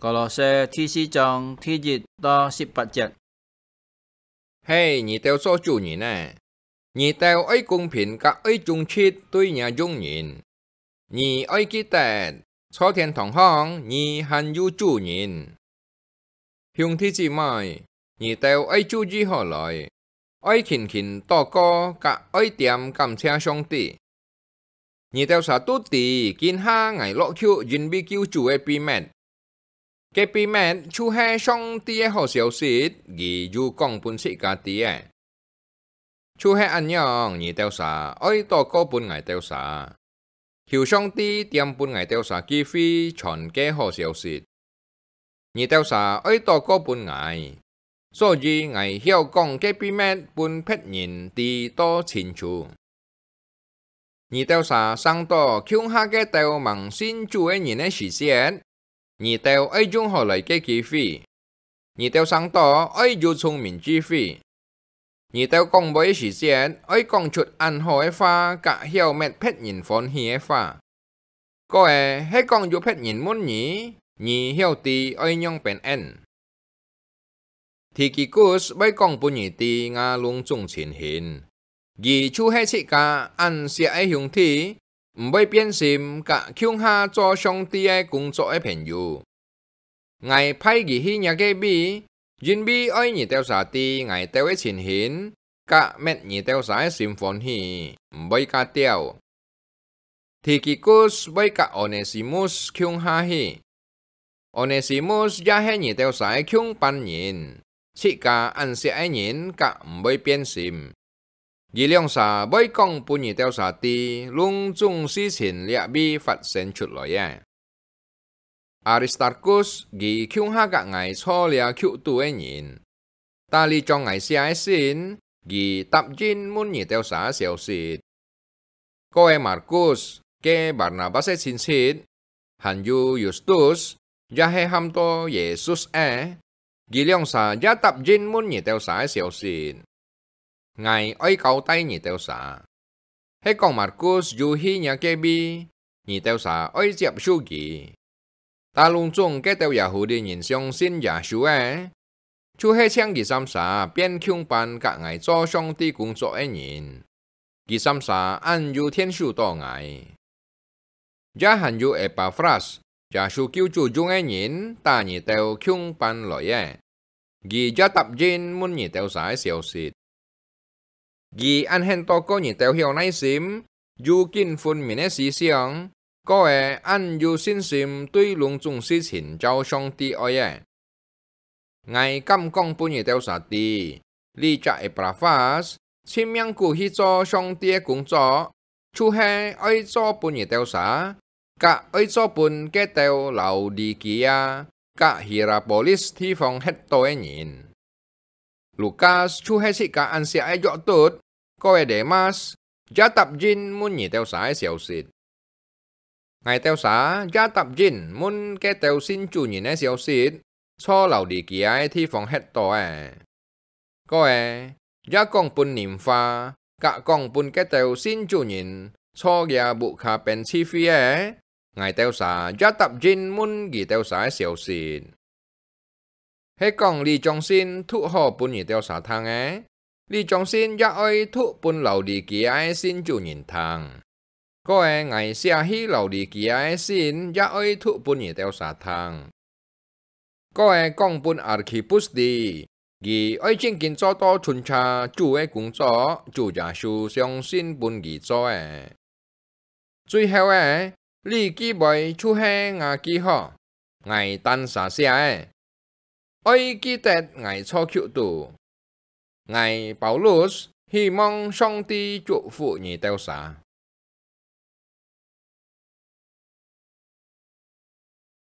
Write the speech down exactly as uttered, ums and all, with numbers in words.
歌羅西第四章第一到十八節。係你兜做主人个，你兜愛公平佮愛忠直對若用人。你愛記得，在天堂項你還有主人。兄弟姊妹，你兜愛注意好來，愛勤勤禱告，佮愛恬感謝上帝。你兜儕都知，今下𠊎落去因為救主个秘密。該秘密就係上帝个好消息，佢有講分自家知个。就係恁樣，你兜儕愛禱告分𠊎兜儕，求上帝恬分𠊎兜儕機會傳該好消息。你兜儕愛禱告分𠊎，所以𠊎曉講該秘密分別人知到清楚。你兜儕想到共下該兜吂信主个人个時節，你兜愛用好來个機會。你兜想到愛有聰明智慧。你兜講話个時節，愛講出恁好个話，佮曉搣別人歡喜个話。過仔，係講有別人問你，你曉知愛仰般應。 提基古斯會講分你知吾攏總情形，佢就係自家恁惜个兄弟，毋會變心，佮共下做上帝个工作个朋友。𠊎派佢去若个位，因為愛你兜儕知𠊎兜个情形，佮搣你兜儕个心歡喜，毋會較忝。 提基古斯會佮俄內西母斯共下去。俄內西母斯也係你兜儕个共班人，自家恁惜个人，佮毋會變心。佢兩儕會講分你兜儕知，攏總事情這位發生出來个。 阿里斯塔古斯佢共下佮𠊎坐這曲肚个人，搭這張𠊎寫个信，佢答應問你兜儕个消息。過仔馬古斯，該巴拿巴斯个親戚，還有Justus，也係喊到耶穌个， 佢兩儕也答應問你兜儕个消息。𠊎愛交代你兜儕，係講馬古斯有去若个位，你兜儕愛接受佢。打攏總該兜Yahudi人相信耶穌个，就係請佢三儕變共班佮𠊎做上帝工作个人。 佢三儕恁有𢯭手到𠊎。也還有Epafras，耶穌救主用个人，搭你兜共班來个，佢也答應問你兜儕个消息。佢恁肯禱告你兜曉耐心，有緊分明个思想，過仔恁有信心對攏總事情照上帝愛个。 𠊎敢講分你兜儕知，這隻Epafras，盡命苦去做上帝个工作，就係愛做分你兜儕，佮愛做分該兜Laodikea佮Hieropolis地方歇到个人。Lukas就係自家恁惜个約督，過仔Demas，也答應問你兜儕个消息。 𠊎兜儕也答應問該兜信主人个消息，在Laodikea个地方歇到个。過仔，也講分Nimfa，佮講分該兜信主人在這屋下邊聚會个，𠊎兜儕也答應問佢兜儕个消息。 係講這張信讀好分你兜儕聽个，這張信也愛讀分Laodikea个信主人聽。過仔𠊎寫去Laodikea个信也愛讀分你兜儕聽。過仔講分Arkhipus知，佢愛真緊做到巡查主个工作，主耶穌相信分佢做个。 最後个，這句話就係吾句號，𠊎單儕寫个。愛記得𠊎在曲肚。𠊎Paulus希望上帝祝福你兜儕。